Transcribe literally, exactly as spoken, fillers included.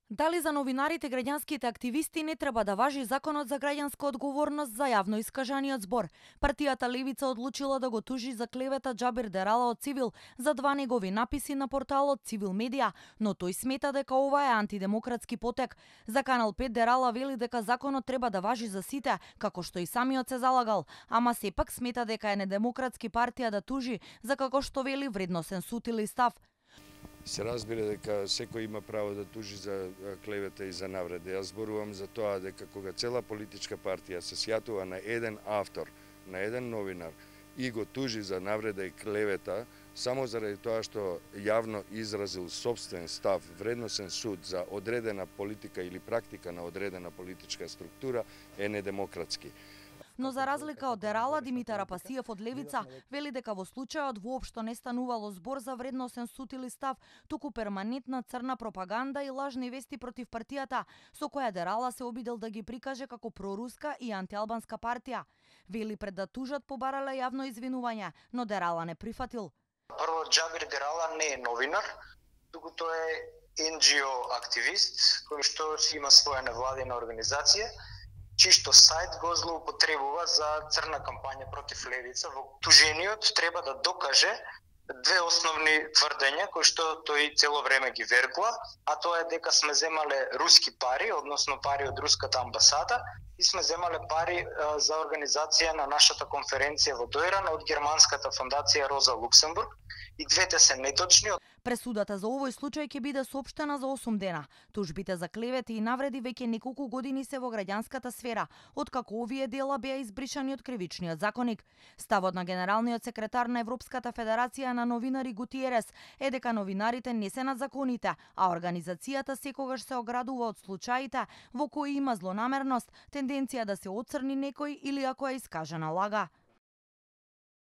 Дали за новинарите граѓанските активисти не треба да важи законот за граѓанска одговорност за јавно искажаниот збор? Партијата Левица одлучила да го тужи за клевета Џабир Дерала од Цивил за два негови написи на порталот Цивил Медија, но тој смета дека ова е антидемократски потек. За Канал пет Дерала вели дека законот треба да важи за сите, како што и самиот се залагал, ама сепак смета дека е недемократски партија да тужи за, како што вели, вредносен суд или став. Се разбира дека секој има право да тужи за клевета и за навреди. Јас зборувам за тоа дека кога цела политичка партија се сјатува на еден автор, на еден новинар и го тужи за навреда и клевета, само заради тоа што јавно изразил собствен став, вредносен суд за одредена политика или практика на одредена политичка структура, е недемократски. Но за разлика од Дерала, Димитар Апасиев од Левица вели дека во случајот воопшто не станувало збор за вредносен суд или став, туку перманентна црна пропаганда и лажни вести против партијата, со која Дерала се обидел да ги прикаже како проруска и антиалбанска партија. Вели пред да тужат побарале јавно извинување, но Дерала не прифатил. Прво, Џабир Дерала не е новинар, туку тој е ен џи о активист кој што си има своја невладина организација, чишто сајт го злоупотребува за црна кампања против Левица. Во тужениот треба да докаже две основни тврдења кои што тој цело време ги вербува, а тоа е дека сме земале руски пари, односно пари од руската амбасада, и сме земале пари а, за организација на нашата конференција во Дојран од германската фондација Роза Луксембург. И двете се неточни. Пресудата за овој случај ќе биде соопштена за осум дена. Тужбите за клевети и навреди веќе неколку години се во граѓанската сфера, откако овие дела беа избришани од кривичниот законник. Ставот на генералниот секретар на Европската федерација на новинари Гутиерес е дека новинарите не се над законите, а организацијата секогаш се оградува од случаите во кои има злонамерност, тенденција да се оцрни некој или ако е искажена лага.